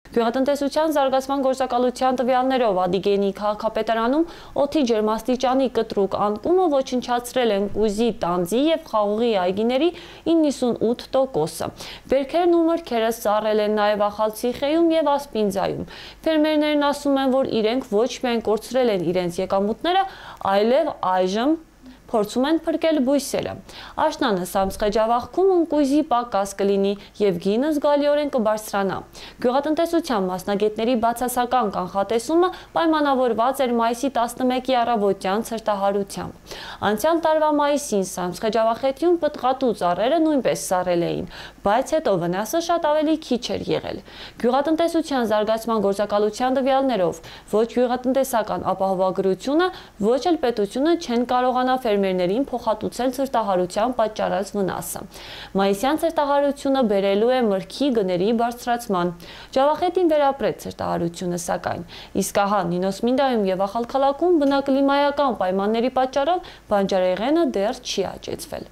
Գյուղատնտեսության զարգացման գործակալության տվյալներով Ադիգենի քաղաքապետարանում օդի ջերմաստիճանի կտրուկ անկումը ոչնչացրել են կույզի, տանձի և խաղողի այգիների 98%-ը։ Բերքերն ու մրգերը սառել են նաև Ախալցիխեում և Ասպինձայում։ Ֆերմերներն ասում են, որ իրենք ոչ միայն կորցրել են իրենց եկամուտները, այլև այժմ փորձում են փրկել բույսերը։ Աշնանը Սամսխեջավախքում ընկույզի պակաս կլինի և գինը զգալիորեն կբարձրանա։ Գյուղատնտեսության մասնագետների բացասական կանխատեսումը պայմանավորված էր մայիսի 11-ի առավոտյան ցրտահարությամբ։ Անցյալ տարվա մայիսին Սամսխեջավախետիում պտղատու ծառերը նույնպես սառել էին, բայց հետո վնասը շատ ավելի քիչ էր եղել։ Գյուղատնտեսության զարգացման գործակալության տվյալներով ոչ գյուղատնտեսական ապահովագրությունը, ոչ էլ պետությունը չեն կարողանա ֆերմերներին փոխհատուցել ցրտահարության պատճառած վնասը։ Մայիսյան ցրտահարությունը բերելու է մրգի գների բարձրացման։ Ջավախետին վերապրեց ցրտահարությունը, սակայն իսկ ահա Նինոսմինդայում և Ախալքալաքում բնակլիմայական պայմանների պատճառով բանջարեղենը դեռ չի աճեցվել։